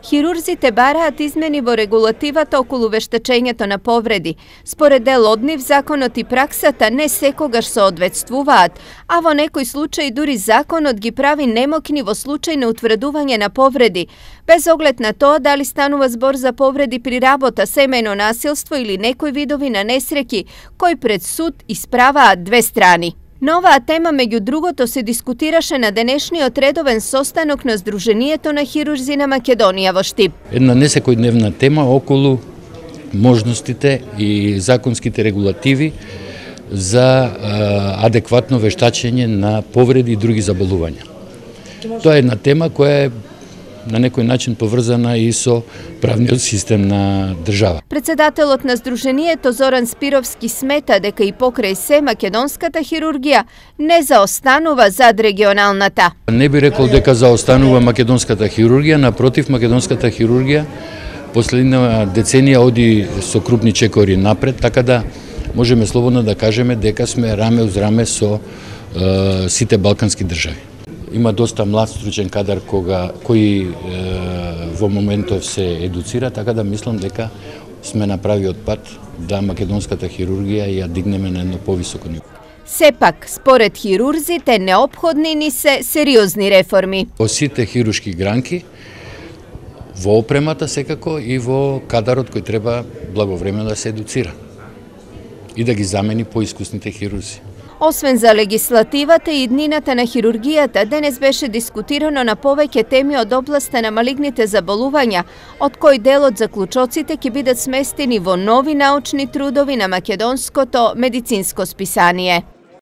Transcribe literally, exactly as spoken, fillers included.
Хирурзите бараат измени во регулативата околу вештачењето на повреди. Според дел од нив, законот и праксата не секогаш соодветствуваат, а во некои случаи дури законот ги прави немокни во случај на утврдување на повреди, без оглед на тоа дали станува збор за повреди при работа, семејно насилство или некои видови на несреќи, кои пред суд исправаат две страни. На оваа тема, меѓу другото, се дискутираше на денешниот редовен состанок на Сдруженијето на хирурзи на Македонија во Штип. Една несекојдневна тема околу можностите и законските регулативи за а, адекватно вештачење на повреди и други заболувања. Тоа е една тема која е на некој начин поврзана и со правниот систем на држава. Председателот на Сдруженијето Зоран Спировски смета дека и покрај се македонската хирургија не заостанува зад регионалната. Не би рекол дека заостанува македонската хирургија, напротив, македонската хирургија последна деценија оди со крупни чекори напред, така да можеме слободно да кажеме дека сме раме уз раме со е, сите балкански држави. Има доста млад стручен кадар кога, кој е, во моментов се едуцира, така да мислам дека сме на правиот пат да македонската хирургија ја дигнеме на едно повисоко ниво. Сепак, според хирурзите, неопходни ни се сериозни реформи. Во сите хируршки гранки, во опремата секако и во кадарот кој треба благовремено да се едуцира и да ги замени поискусните хирурзи. Освен за легислативата и иднината на хирургијата, денес беше дискутирано на повеќе теми од областа на малигните заболувања, од кој дел од заклучоците ќе бидат сместени во нови научни трудови на македонското медицинско списание.